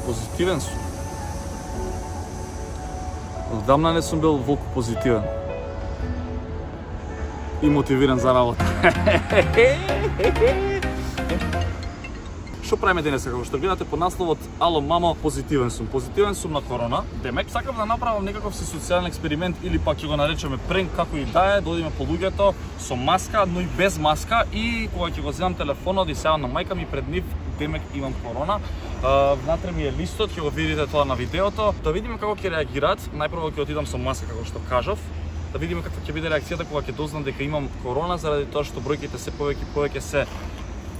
Позитивен сум. Одамна не сум бил волку позитивен. И мотивиран за работа. Што правиме денес, како што гледате по насловот Ало мамо, позитивен сум. Позитивен сум на корона. Демек сакам да направам некаков си социјален експеримент или пак ќе го наречеме пренк, како и да е, да одиме по луѓето со маска, но и без маска, и кога ќе го земам телефонот и сеам на мајка ми пред нив, демек имам корона. Внатре ми е листот, ќе го видите тоа на видеото. Да видиме како ќе реагираат. Најпрво ќе отидам со маска, како што кажав. Да видиме каква ќе биде реакцијата кога ќе дознам дека имам корона, заради тоа што бројките се повеќе се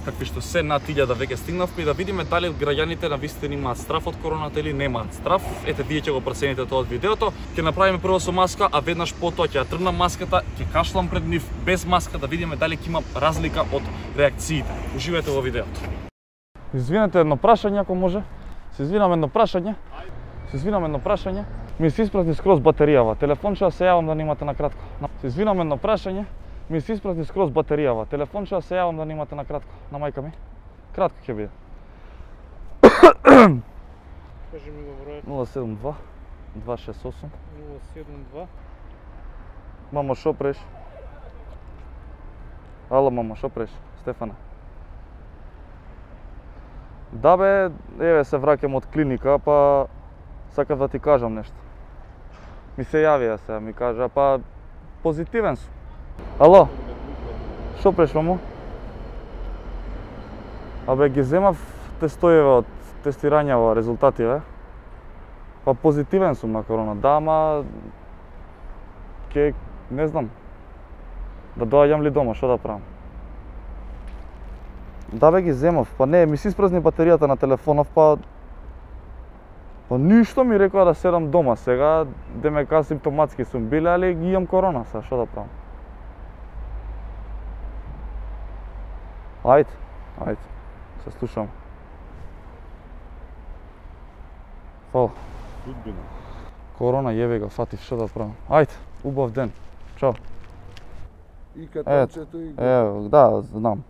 какви што се над 1000 веќе стигнавме, и да видиме дали граѓаните навистина имаат страф од короната или немаат страф. Ете, вие ќе го процените тоа од видеото. Ќе направиме прво со маска, а веднаш потоа ќе ја тргнам маската, ќе кашлам пред нив без маска, да видиме дали ќе има разлика од реакциите. Уживајте во видеото. Извинете, едно прашање ако може. Се извинам, едно прашање. Ми се испразни скроз батеријава. Телефонче се јавам да немате на кратко. Се извинам, едно прашање. Ми се испразни скроз батеријава. Телефонче се јавам да немате на кратко. На мајка ми. Кратко ќе биде. Кажи ми го бројот. 072 268 072. Мамо, шо преш? Ало, мамо, шо преш? Стефана. Да бе, еве се враќам од клиника, па сакав да ти кажам нешто. Ми се јавија сега, ми кажа, па позитивен сум. Ало, шо преш, мамо? Абе, ги земав тестојеве од тестирањава, резултативе. Па позитивен сум на корона, да, ама не знам, да доаѓам ли дома, шо да правам? Да бе, ги земав, па не, ми се испразни батеријата на телефонов, па ништо ми рекоа да седам дома сега, демек асимптоматски сум биле, али ги имам корона сега, шо да правам? Ајде, се слушам. Фала. Судбина. Корона, јебе го, фатив, шо да правам? Ајде, убав ден. Чао. И катанчето и... Ево, да, знам.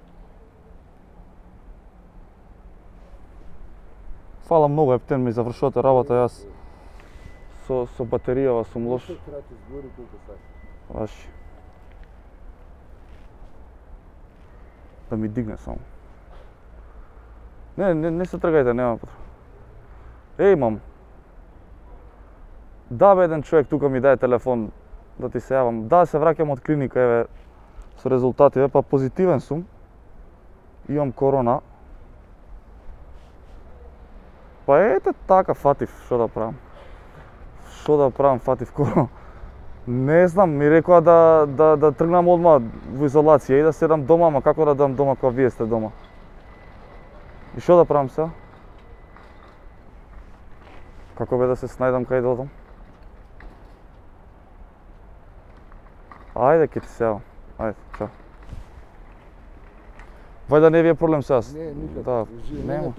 Фала многу, ептен ми завршувате работа, јас со батеријава сум лош. Крати збори колку сакаш. Ваши. Да ми дигне само. Не се тргајте, нема потреба. Еј, мам. Да бе, еден човек тука ми даде телефон да ти се јавам. Да, се враќам од клиника, еве, со резултативе, па позитивен сум. Имам корона. Па ете така, фатив, шо да правам? Фатив корона? Не знам, ми рекоа да тргнам одма во изолација и да седам дома, ама како да дам дома кога вие сте дома? И шо да правам сега? Како бе да се снајдам кај да одам? Ајде, ке ти се јавам. Ајде, чао. Вај да не ви е проблем сега. Не, никак. Да, нема.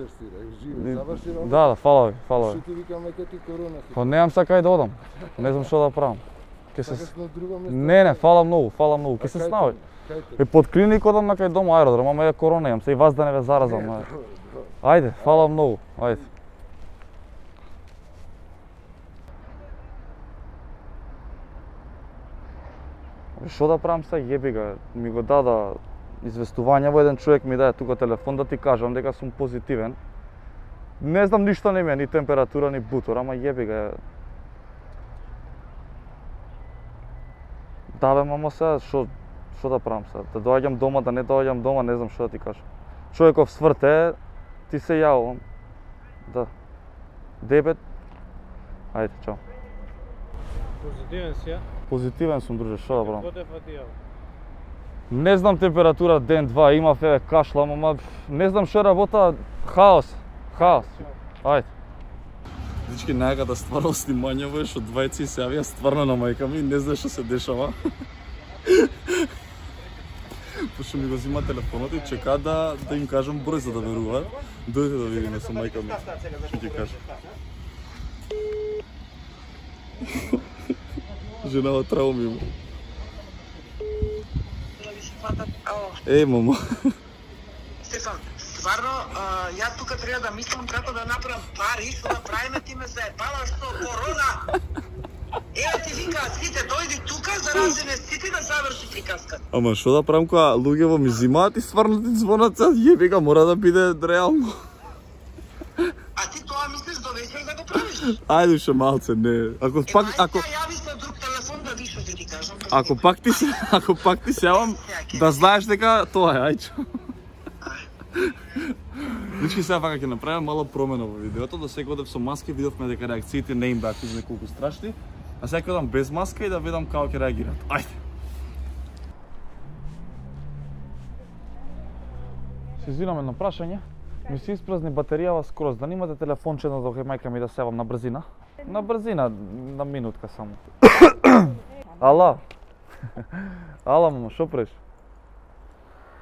Живи, заврши работа. Да, фала ви. Што ти викаме ке ти корона? Па немам сега кај да одам. Не знам што да правам. Сакаш на друго место? Не, фала многу. Ке се снаој. И под клиник одам на кај дома аеродром, ама е корона имам, се и вас да не ве заразам. Ајде, фала многу. Ајде. Што да правам сега, јеби га, ми го дада известување, во еден човек ми даде тука телефон да ти кажам дека сум позитивен. Не знам ништо не ми е, ни температура, ни бутор, ама јеби га. Да бе, мамо сега, што да правам сега? Да доаѓам дома, да не доаѓам дома, не знам што да ти кажам. Човеков сврте, ти се јавам. Да. Дебет. Ајде, чао. Позитивен си, ја? Позитивен сум, друже, што да правам? Кој те фатија? Не знам температура ден-два, имав еве кашлам, ама не знам што работа, хаос. Ајде. Дички, најгада стварно снимањево е што двајци се јавија стварно на мајка ми, не знае што се дешава. Пошто ми го зима телефонот и чека да им кажам број за да веруваат. Дојде да видиме со мајка ми. Што ќе кажа? Женава трауми има. Еј, мамо. Стефан, стварно, јас тука треба да мислам како да направам пари, што да правиме, ти ме заебала што корона. Еве ти вика, сите дојди тука, зарази ме сите да заврши приказката. Ама што да правам кога луѓе ми зимаат и стварно ти звонат сега, јебика, мора да биде реално. А ти тоа мислиш до вечер да го правиш? Ајде ше малце, не. Ако пак Јави се друг телефон да виш што ти кажам. ако пак ти се јавам, да знаеш дека тоа е, ајчо. Значи сега вака ќе направиме мала промена во видеото, да сега одев со маска, видовме дека реакциите не им беа куз неколку страшни, а сега ќе одам без маска и да видам како ќе реагираат. Ајде. Се извинам едно прашање. Ми се испразни батеријава скроз, да немате телефонче на док мајка ми да се јавам на брзина? На брзина, на минутка само. Ало. Ало, мамо, шо преш?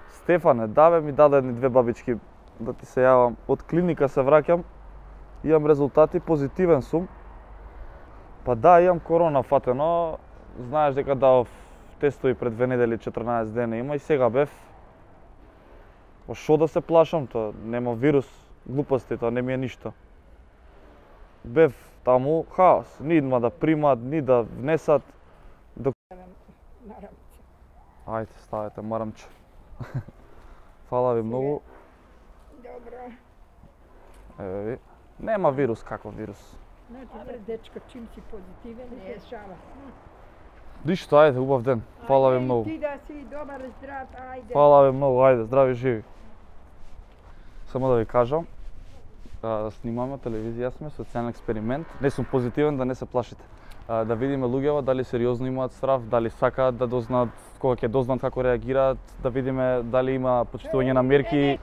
Стефане, да ми даде едни две бабички да ти се јавам. Од клиника се враќам, имам резултати, позитивен сум. Па да, имам корона фатено, знаеш дека давав тестови пред 2 недели, 14 дена има и сега бев. Па шо да се плашам, тоа нема вирус, глупости, тоа не ми е ништо. Бев таму хаос, ни идма да примат, ни да внесат. Ајде, ставете марамче. Фала ви многу. Добро. Еве ви. Нема вирус, каков вирус? Добре, дечко, чим си позитивен, не е шала. Ништо, ајде, убав ден. Фала ви многу. Ти да си добар, здрав, ајде. Фала ви многу, ајде, здрави живи. Само да ви кажам, да снимаме телевизија сме, социјален експеримент. Не сум позитивен, да не се плашите. Да видиме луѓева дали сериозно имаат страв, дали сакаат да дознаат, кога ќе дознаат како реагираат, да видиме дали има почитување на мерки.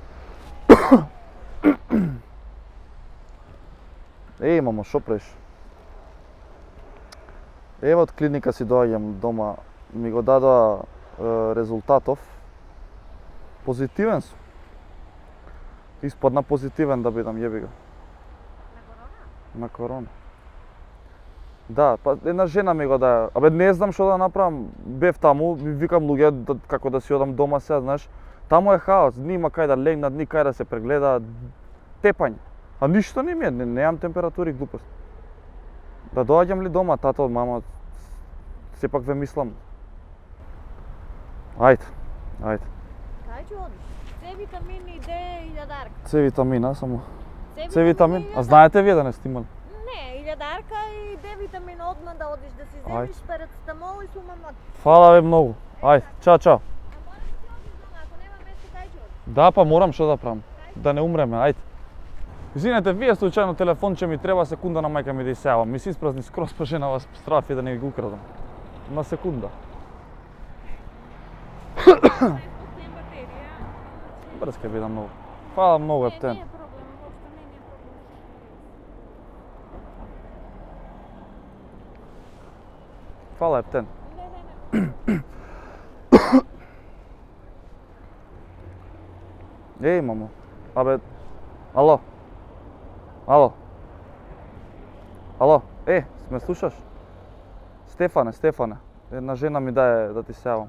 Еј, мамо, шо преш? Ева од клиника си доаѓам дома, ми го дадоа резултатов. Позитивен сум. Испадна позитивен да бидам, јеби го. На корона? Да, па една жена ми го даде. Абе не знам што да направам. Бев таму, викам луѓе како да си одам дома сега, знаеш. Таму е хаос, нима кај да легнат, ни кај да се прегледаат, тепање. А ништо не ми е, немам температури, глупост. Да доаѓам ли дома, тато, мама, сепак ве мислам. Ајде, ајде. Кај ќе одиш? С витамини Д и илјадарка. С витамина само. С витамин? А знаете вие да не сте имали? Не, илјадарка и Д витамин одма да одиш да си земиш парацетамол и сумамот. Фала ви многу. Ајде, чао, чао. А мораш ти одиш дома, ако нема место кај ќе одиш? Да, па морам што да правам. Да не умреме, ајде. Извинете, вие случајно телефонче ми треба секунда на мајка ми да исејавам. Ми се испразни скроз па жена вас страфи да не ги украдам. На секунда. Брз ке бидам многу. Фала многу, ептен. Не е проблем, воопшто не е проблем. Фала, ептен. Еј, мамо. Абе, ало. Ало. Ало, ме слушаш? Стефане. Една жена ми даде да ти се јавам.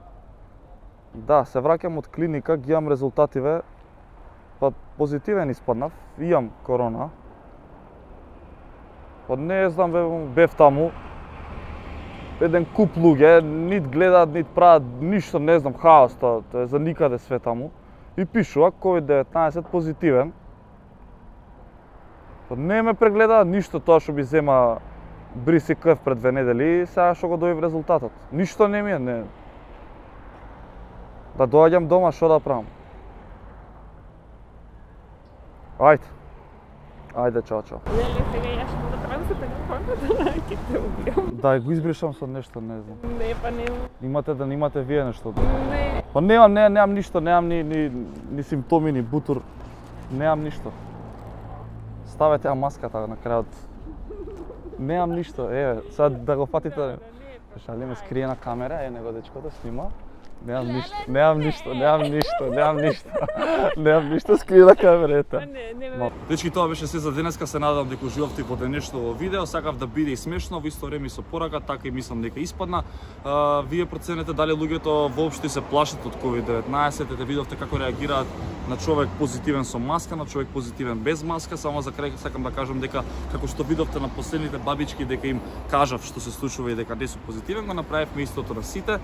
Да, се враќам од клиника, ги имам резултативе, па позитивен испаднав, имам корона. Па не знам, бев таму, еден куп луѓе, нит гледаат, нит прават, ништо, не знам, хаос, тоа е за никаде све таму. И пишува COVID-19 позитивен. Па не ме прегледаат ништо тоа што би зема бриси крв пред 2 недели и сега што го дојав резултатот. Ништо не ми е, не. Да доаѓам дома, што да правам? Ајде. Ајде, чао. Леле, сега јас што да правам со телефонот, ќе те убијам. Да, го избришам со нешто, не знам. Не, па не. Имате да немате вие нешто? Не. Па немам ништо, немам ни симптоми, ни бутур. Немам ништо. Ставете ја маската на крајот. Немам ништо, еве, сега да го фатите. Шалиме скриена камера, него дечкото снима. Немам ништо скрила камерата. Дечки, тоа беше се за денеска, се надам дека уживавте во денешното видео, сакав да биде и смешно, во исто време и со порака, така и мислам дека испадна. Вие проценете дали луѓето воопшто се плашат од COVID-19, те видовте како реагираат на човек позитивен со маска, на човек позитивен без маска. Само за крај сакам да кажам дека како што видовте на последните бабички дека им кажав што се случува и дека не сум позитивен, го направивме истото на сите.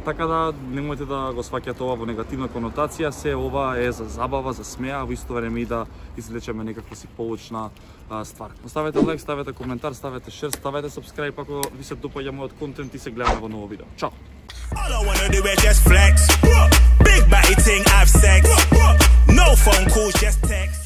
Така да немојте да го сваќате ова во негативна конотација, се ова е за забава, за смеа, во исто време и да извлечеме некаква си поучна ствар. Ставете лайк, ставете коментар, ставете шер, ставете сабскрајб ако ви се допаѓа мојот контент и се гледаме во ново видео. Чао! All I wanna do is just flex. Big batty ting, have sex. No phone calls, just text.